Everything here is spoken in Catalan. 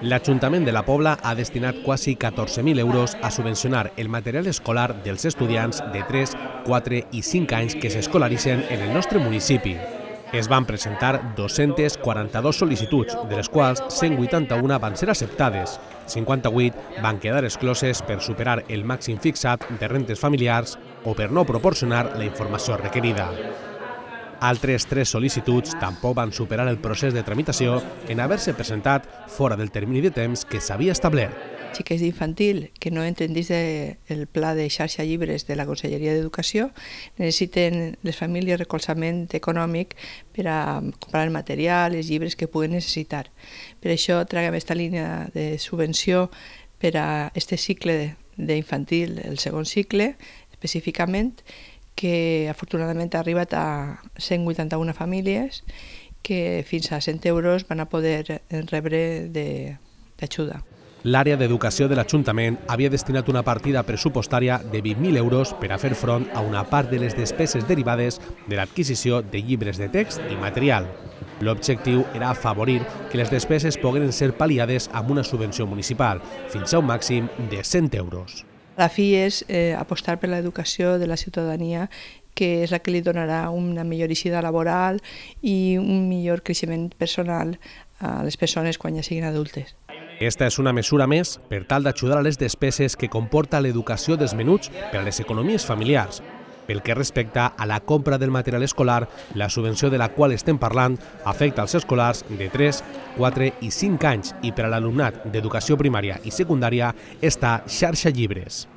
L'Ajuntament de la Pobla ha destinat quasi 14.000 euros a subvencionar el material escolar dels estudiants de 3, 4 i 5 anys que s'escolaritzen en el nostre municipi. Es van presentar 242 sol·licituds, de les quals 181 van ser acceptades. 58 van quedar excloses per superar el màxim fixat de rentes familiars o per no proporcionar la informació requerida. Altres 3 sol·licituds tampoc van superar el procés de tramitació en haver-se presentat fora del termini de temps que s'havia establert. Xiquets d'infantil que no entren dins del pla de xarxa llibres de la Conselleria d'Educació necessiten les famílies recolzament econòmic per a comprar el material, els llibres que puguen necessitar. Per això traguem aquesta línia de subvenció per a aquest cicle d'infantil, el segon cicle, específicament, que afortunadament ha arribat a 181 famílies que fins a 100 euros van a poder rebre d'ajuda. L'àrea d'educació de l'Ajuntament havia destinat una partida pressupostària de 20.000 euros per a fer front a una part de les despeses derivades de l'adquisició de llibres de text i material. L'objectiu era afavorir que les despeses pogueren ser pal·liades amb una subvenció municipal, fins a un màxim de 100 euros. La fi és apostar per l'educació de la ciutadania, que és la que li donarà una millor eixida laboral i un millor creixement personal a les persones quan ja siguin adultes. Esta és una mesura més per tal d'ajudar a les despeses que comporta l'educació dels menuts per a les economies familiars. Pel que respecta a la compra del material escolar, la subvenció de la qual estem parlant afecta als escolars de 3, 4 i 5 anys i per a l'alumnat d'educació primària i secundària està xarxa llibres.